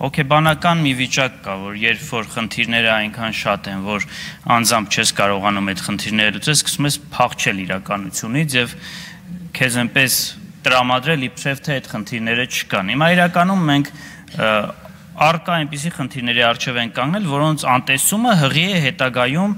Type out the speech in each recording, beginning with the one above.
Հոգեբանական մի վիճակ կա, որ երբ որ խնդիրները այնքան շատ են, որ անձամբ չես կարողանում այդ խնդիրները լուծել, սկսում ես փախչել իրականությունից եւ քեզ այնպես տրամադրել իբրև թե այդ խնդիրները չկան։ Հիմա իրականում մենք առկա այնպիսի խնդիրների առջև են կանգնել, որոնց անտեսումը հղի է հետագայում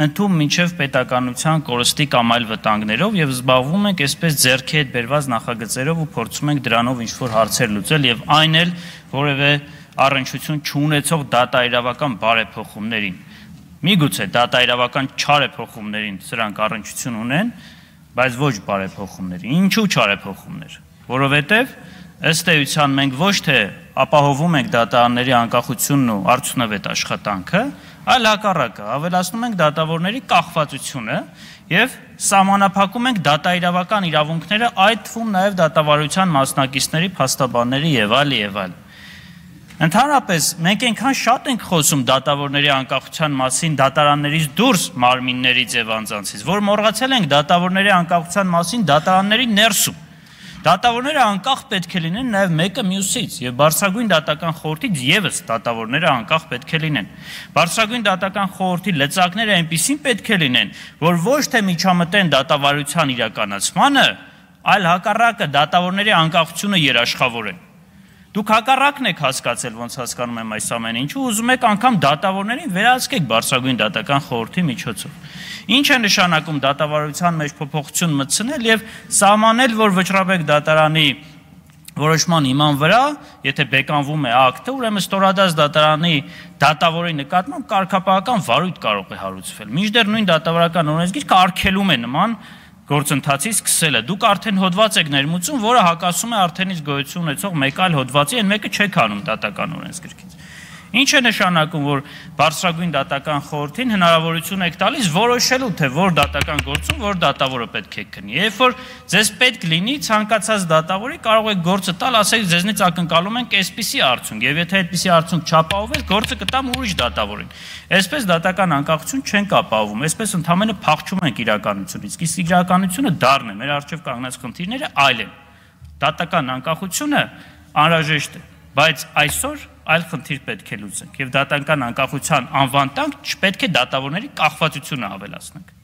ընդում մինչև պետականության կորստի կամ այլ վտանգներով եւ զբաղվում ենք այսպես ձեռքի հետ բերված նախագծերով ու փորձում ենք դրանով ինչ-որ հարցեր լուծել եւ այն էլ որևէ առնչություն չունեցող դատաիրավական բարեփոխումներին։ Միգուցե դատաիրավական չարեփոխումներին սրանք առնչություն ունեն, բայց ոչ բարեփոխումների։ Ինչու չարեփոխումներ։ Որովհետեւ ըստ էության մենք ոչ թե ապահովում ենք դատարանների անկախությունն ու արդյունավետ աշխատանքը, այլ հակառակը, ավելացնում ենք դատավորների կախվածությունը եւ սահմանափակում ենք դատաիրավական իրավունքները, այդ թվում նաեւ դատավարության մասնակիցների, փաստաբանների եւ այլ։ Ընդհանրապես մենք այնքան շատ ենք խոսում դատավորների անկախության մասին դատարաններից դուրս մարմիններից եւ անձանցից, որ մոռացել ենք դատավորների անկախության մասին դատարանների ներսում։ Դատավորները անկախ պետք է լինեն նաև մեկը մյուսից եւ բարձրագույն դատական խորհրդից եւս դատավորները անկախ պետք է լինեն։ Բարձրագույն դատական խորհրդի լծակները այնպիսին պետք է լինեն, որ ոչ թե միջամտեն դատավարության իրականացմանը, այլ հակառակը դատավորների անկախությունը երաշխավորեն։ Դուք հակառակն եք հասկացել, ոնց հասկանում եմ այս ամեն ինչը, ուզում եք անգամ դատավորներին վերահսկեք բարձրագույն դատական խորհրդի միջոցով։ Ինչ է նշանակում դատավարության մեջ փոփոխություն մտցնել եւ սահմանել, որ Վճռաբեկ դատարանի որոշման հիման վրա, եթե բեկանվում է ակտը, ուրեմն ստորադաս դատարանի դատավորի նկատմամբ կարգապահական վարույթ կարող է հարուցվել։ Մինչդեռ նույն դատավարական օրենսգիրքը արգելում է նման գործընթացի սկսելը։ Դուք արդեն հոդված եք ներմուծում, որը հակասում է արդենից գոյություն ունեցող մեկ այլ հոդվածի, այն մեկը չեք անում դատական օրենսգրքից։ Ինչ է նշանակում, որ բարձրագույն դատական խորհրդին հնարավորություն եք տալիս որոշելու, թե որ դատական գործում որ դատավորը պետք է քննի։ Երբ որ ձեզ պետք լինի ցանկացած դատավորի կարող եք գործը տալ, ասեք ձեզնից ակնկալում ենք այսպիսի արդյունք, եւ եթե այդպիսի արդյունք չապահովվի, գործը կտամ ուրիշ դատավորին։ Այսպես դատական անկախություն չենք ապահովում, այսպես ընդհանրապես փախչում ենք իրականությունից։ Իսկ իրականությունը դառն է, մեր առջև կանգնած խնդիրները այլ են։ Դատական անկախությունը անհրաժեշտ է, բայց այսօր այլ խնդիր պետք է լուծենք եւ դատական անկախության անվան տակ չպետք է դատավորների կախվածությունը ավելացնենք։